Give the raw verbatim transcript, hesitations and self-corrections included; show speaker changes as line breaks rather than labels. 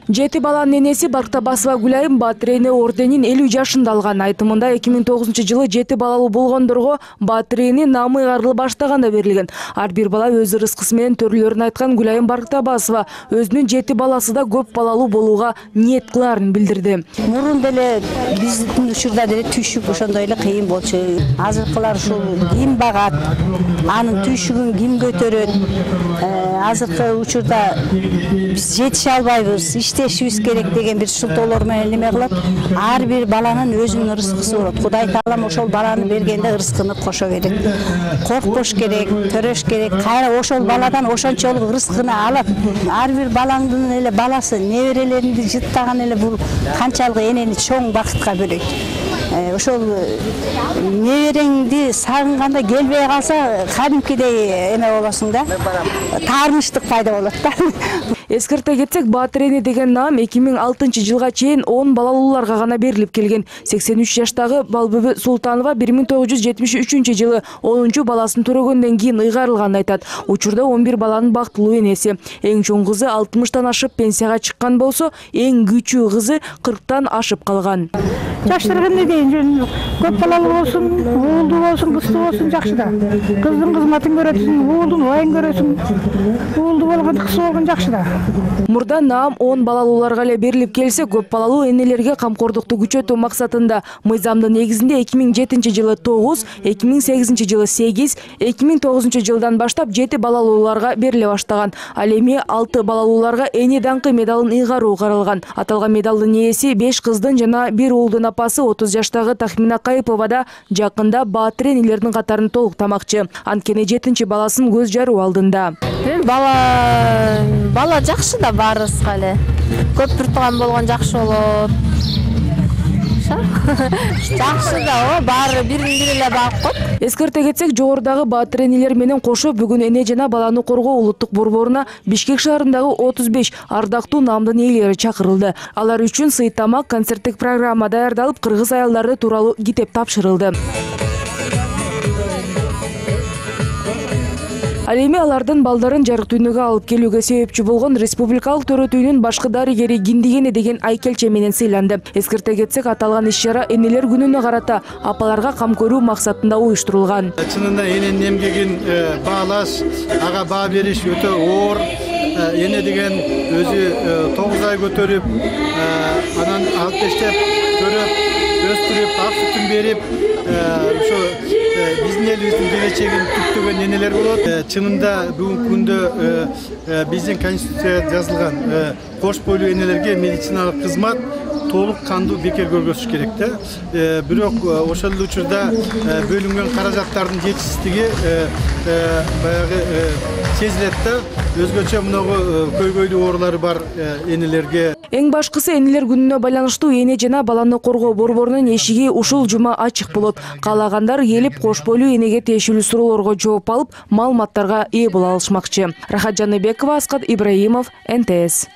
Жети баланын энеси Барктабасова Гүлайым Баатыр эне орденин элүү жашында алган. Айтымында эки миң тогузунчу жылы жети балалуу болгондорго Баатыр эне намы ыйгарылып баштаганда берилген. Ар бир бала өз ырыскысы менен төрөлөрүн айткан Гүлайым Барктабасова өзүнүн жети баласы да көп балалуу болууга ниет кылаарын билдирди.
Мурун деле биздин учурда деле түйшүк ошондой эле кыйын болчу. Азыркылар ушул ким багат, анын түйшүгүн ким көтөрөт? Азыркы учурда биз жетише албайбыз, иштешибиз керек деген бир шылтоолор менен неме кылат. Ар бир баланын өзүнүн ырыскысы болот. Кудай таалам ошол баланы бергенде ырыскыны кошо берет. Коркпош керек, төрөш керек. Кайра ошол баладан ошончолук ырыскыны алат. Ар бир балаңдын эле баласы, неберелеринди жыттаган эле бул канчалык энени чоң бакытка бөлөйт. Ошол небереңди сагынганда келбей калса, кадимкидей эме болосуң да. Таарынычтык пайда болот да.
Эскерте кетсек, Баатыр эне деген наам эки миң алтынчы жылга чейин он балалууларга гана берилип келген. сексен үч жаштагы Балбөбө Султанова бир миң тогуз жүз жетимиш үчүнчү жылы онунчу баласын төрөгөндөн кийин ыйгарылганын айтат. Учурда он бир баланын бактылуу энеси. Эң чоң кызы алтымыштан ашып пенсияга чыккан болсо, эң кичүү кызы кырктан ашып калган.
Жаштар эмне дейин, көп балалуу болсун, уулдуу болсун, кыздуу болсун жакшы да. Кыздын кызматын көрөсүң, уулдун убайын көрөсүң. Уулдуу болгон, кыз болгон жакшы да.
Мурда наам он балалууларга эле берилип келсе, көп балалуу энелерге камкордукту күчөтүү максатында мыйзамдын негизинде эки миң жетинчи жылы тогуз, эки миң сегизинчи жылы сегиз, эки миң тогузунчу жылдан баштап жети балалууларга бериле баштаган. Ал эми алты балалууларга эне даңкы медалын ыйгаруу каралган. Аталган медалдын ээси беш кыздын жана бир уулдун апасы отуз жаштагы Тахмина Кайыпова да жакында Баатыр энелердин катарын толуктамакчы. Анткени жетинчи баласын көз жаруу алдында.
Бала бала жакшы да барыбызга эле. Көп туртуган болгон жакшы болот. Жакшы да, баары бирин-бири эле багып коет.
Эскерте кетсек, жогорудагы Баатыр энелер менен кошо бүгүн эне жана баланы коргоо улуттук борборуна Бишкек шаарындагы отуз беш ардактуу наамдын ээлери чакырылды. Алар үчүн сый тамак, концерттик программа даярдалып, кыргыз аялдары тууралуу китеп тапшырылды. Ал эми алардын балдарын жарык дүйнөгө алып келүүгө себепчи болгон республикалык төрөтүүнүн башкы дарыгери Киндигене деген айкелче менен сыйланды. Эскерте кетсек, аталган иш-чара энелер күнүнө карата апаларга кам көрүү максатында уюштурулган.
Чынында эненин эмгегин баалаш, ага баа бериш өтө оор. Эне деген өзү тогуз ай көтөрүп, анан алып бештеп, көрүп, өстүрүп, ак сүтүн берип, ошо биздин элибиздин келечегин күттөгөн энелер болот. Чынында бүгүнкү күндө биздин конституцияда жазылган кош бойлуу энелерге медициналык кызмат толук кандуу бекер көргөзүш керек да. Бирок ошол эле учурда бөлүнгөн каражаттардын жетишсиздиги баягы сезилет да. Өзгөчө мынагы көйгөйлүү оорулары бар энелерге.
Эң башкысы, энелер күнүнө байланыштуу эне жана баланы коргоо борборунун эшиги ушул жума ачык болот. Каалагандар келип, кош бойлуу энеге тиешелүү суроолорго жооп алып, маалыматтарга ээ боло алышмакчы. Рахат Жаныбекова, Аскат Ибраимов, эн тэ эс.